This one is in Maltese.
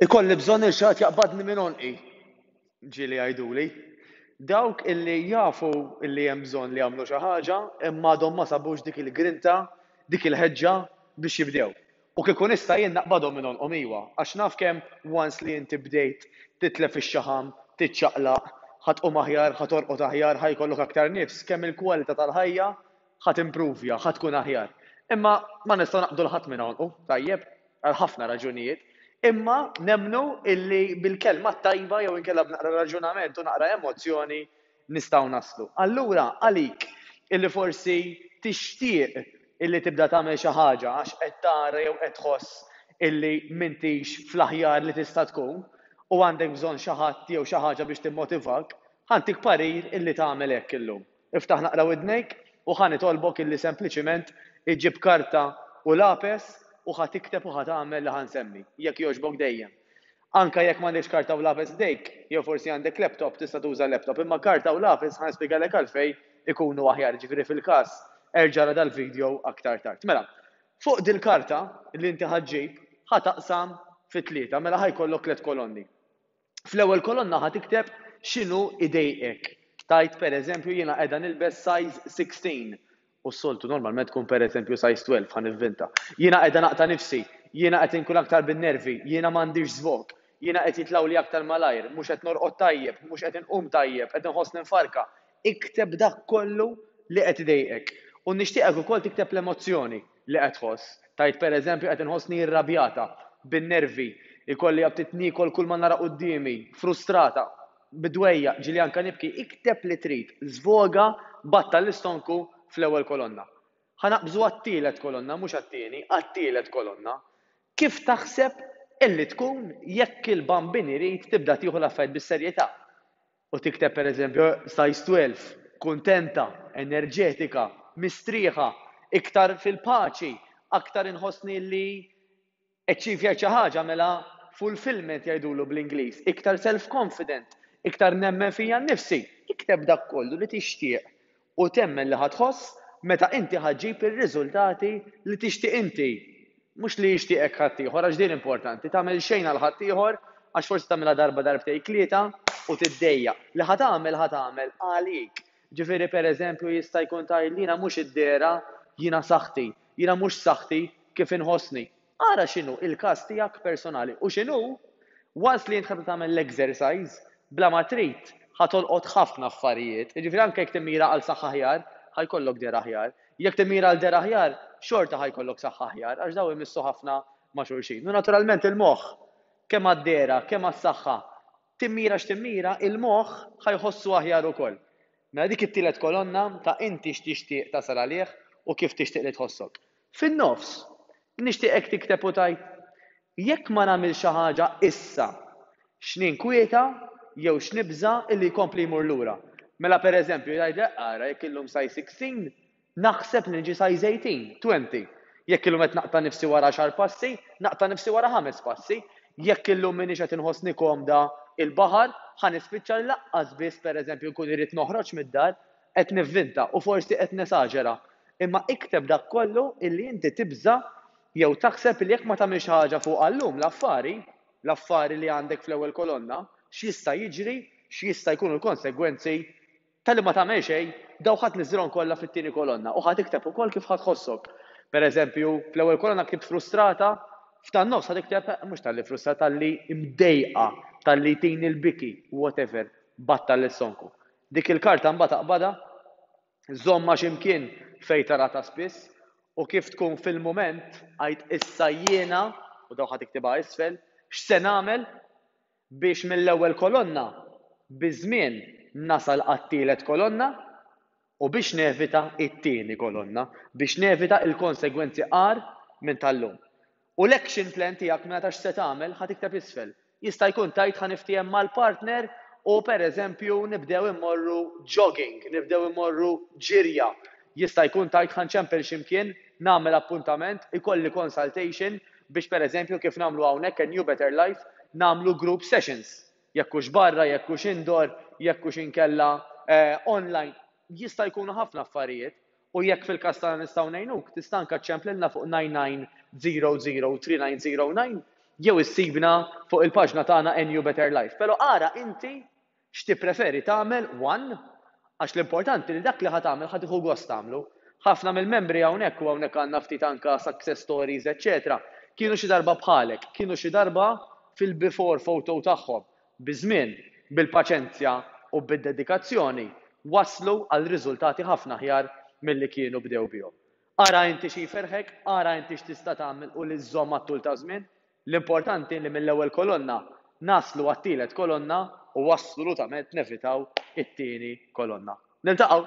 Ikolli bżonn lil xi ħadd jaqbadni minn għonqi, ġieli jgħiduli. Dawk illi jafu illi hemm bżonn li jagħmlu xi ħaġa imma għadhom ma sabux dik il-grinta, dik il-ħeġġa biex jibdew. U kieku nista' jien naqbadhom minn għonqhom iwa, għax naf kemm once li inti bdejt titlef ix-xaħam, tiċċaqlaq, ħa tqum aħjar, ħa torqod aħjar, ħa jkollok aktar nifs, kemm il-kwalità tal-ħajja ħa timpruvja, ħa tkun aħjar. Imma ma nistgħu naqbdu 'l ħadd minn għonqu, tajjeb, għal ħafna raġunijiet. Imma nemmnu illi bil-kelma t-tajba jew inkella b'naqra raġunament u naqra emozzjoni nistgħu naslu. Allura għalik illi forsi tixtieq illi tibda tagħmel xi ħaġa għax qed tara jew qed tħoss illi m'intix fl-aħjar li tista' tkun u għandek bżonn xi ħadd jew xi ħaġa biex timmotivak, ħa ntik parir illi tagħmel hekk illum. Iftaħ naqra widnejk u ħa nitolbok illi sempliċiment iġġib karta u lapes u ħa tikteb u ħa tagħmel li ħa nsemmi. Jekk jogħġbok dejjem. Anke jekk m'għandekx karta u lapes ħdejk, jew forsi għandek laptop, tista' tuża laptop, imma karta u lapes ħa nispjegalek għalfejn ikunu aħjar, jiġifieri fil-każ erġa' ara dal-video aktar tard. Mela, fuq dil-karta li inti ħa ġġib, ħa taqsam fi tlieta, mela ħa jkollok tliet kolonni. Fl-ewwel kolonna ħa tikteb x'inhu idejqek. Tgħid pereżempju jiena qiegħda nilbes size 16 u s-soltu normalment tkun pereżempju size 12 ħa nivvinta. Jiena qiegħda naqta' nifsi, jiena qed inkun aktar bin-nervi, jiena m'għandix żvog, jiena qed jitlgħuli aktar malajr, mhux qed norqod tajjeb, mhux qed inqum tajjeb, qed inħossni mfarrka. Ikteb dak kollu li qed idejqek. U nixtieqek ukoll tikteb l-emozzjoni. li qed tħoss. Tgħid pereżempju qed inħossni irrabjata, bin-nervi, ikolli aptit niekol kull ma nara quddiemi, frustrata, bid-dwejjaq, ġieli anke nibki, ikteb li trid, żvoga, battal l-istonku fl-ewwel kolonna. Ħa naqbżu għat-tielet kolonna, mhux għat-tieni, għat-tielet kolonna. Kif taħseb illi tkun jekk il-Bambin irid tibda tieħu l-affarijiet bis-serjetà? U tikteb pereżempju size 12, kuntenta, enerġetika, mistrieħa, iktar fil-paċi, aktar inħossni li achievjajt xi ħaġa mela fulfillment jgħidulu bl-Ingliż, iktar self-confident, iktar nemmen fija nnifsi. Ikteb dak kollu li tixtieq u temmen li ħa tħoss meta inti ħa ġġib ir-riżultati li tixtieq inti, mhux li jixtieqek ħaddieħor għax din importanti, tagħmel xejn għal ħaddieħor għax forsi tagħmilha darba darbtejn tlieta u tiddejjaq. Li ħa tagħmel ħa tagħmel għalik. Ġifieri pereżempju jista' jkun tgħid li jiena mhux id-dehra, jiena saħħti, jiena mhux saħħti kif inħossni. Ara x'inhu il-każ tiegħek personali u x'inhu, once li int ħa tagħmel l-exercise, bla ma trid, ħa tolqot ħafna affarijiet. Jiġifieri anke jekk timmira għal saħħa aħjar, ħa jkollok dehra aħjar. Jekk timmira għal dehra aħjar, xorta ħa jkollok saħħa aħjar, għax dawn imissu ħafna ma' xulxin. U naturalment il-moħħ, kemm għad-dehra, kemm għas-saħħa, timmira x'timmira, il-moħħ ħa jħossu aħjar ukoll. Mela dik it-tielet kolonna ta' inti x'tixtieq tasal għalih u kif tixtieq li tħossok. Fin-nofs, nixtieqek tikteb u tgħid, Jekk ma nagħmilx xi ħaġa issa, x'ninkwieta jew x'nibża' illi jkompli jmur lura? Mela pereżempju jgħidlek, ara jekk illum size 16, naħseb li niġi size 18, 20. Jekk illum qed naqta' nifsi wara għaxar passi, naqta' nifsi wara ħames passi. Jekk illum m'iniex qed inħossni komda il-baħar, ħa nispiċċa li lanqas biss pereżempju nkun irrid noħroġ mid-dar, qed nivvinta u forsi qed nesaġera. Imma ikteb dak kollu illi inti tibża' jew taħseb li jekk ma tagħmilx xi ħaġa fuqha llum l-affari, l-affari li għandek fl-ewwel kolonna, x'jista' jiġri, x'jista' jkunu l-konsegwenzi ta' li ma tagħmel xejn, dawn ħa tniżżilhom kollha fit-tieni kolonna u ħa tikteb ukoll kif ħa tħossok. Per eżempju, fl-ewwel kolonna ktibt frustrata, f'tan-nofs ħa tikteb mhux talli frustrata, talli mdejqa, talli jtini l-biki, whatever, battal l-istonku. Dik il-karta mbagħad aqbadha, żommha xi mkien fejn tara ta' spiss u kif tkun fil-mument għid issa jiena, u dawn ħa tiktibha isfel, x'se nagħmel biex mill-ewwel kolonna biż-żmien nasal għat-tielet kolonna u biex nevita t-tieni kolonna, biex nevita l-konsegwenzi agħar minn tal-lum. U l-action plan tiegħek mela ta' x'se tagħmel ħa tikteb isfel. Jista' jkun tgħid ħa niftiehem mal-partner u pereżempju nibdew immorru jogging, nibdew immorru ġirja. Jista' jkun tgħid ħa nċempel xi mkien, nagħmel appuntament, ikolli consultation biex pereżempju kif nagħmlu hawnhekk a New Better Life nagħmlu group sessions. Jekk hux barra, jekk hux indoor, jekk hux inkella online. Jista' jkunu ħafna affarijiet. U jekk fil-każ tagħna nistgħu ngħinuk, tista' anke ċċemplilna fuq 9900 3909. Jew issibna fuq il-paġna tagħna A New Better Life. Però ara inti x'tippreferi tagħmel one għax l-importanti li dak li ħa tagħmel ħa tieħu gost tagħmlu. Ħafna mill-membri hawnhekk u hawnhekk għandna ftit anke success stories eċċetera, kienu xi darba bħalek, kienu xi darba fil-before photo tagħhom. Biż-żmien, bil-paċenzja u bid-dedikazzjoni waslu għal riżultati ħafna aħjar milli kienu bdew bihom. Ara inti xi jferrħek, ara inti x'tista' tagħmel u li żżomm għat-tul taż-żmien. L-importanti li mill-ewwel kolonna naslu għat-tielet kolonna u assolutament nevitaw it-tieni kolonna. Niltaqgħu!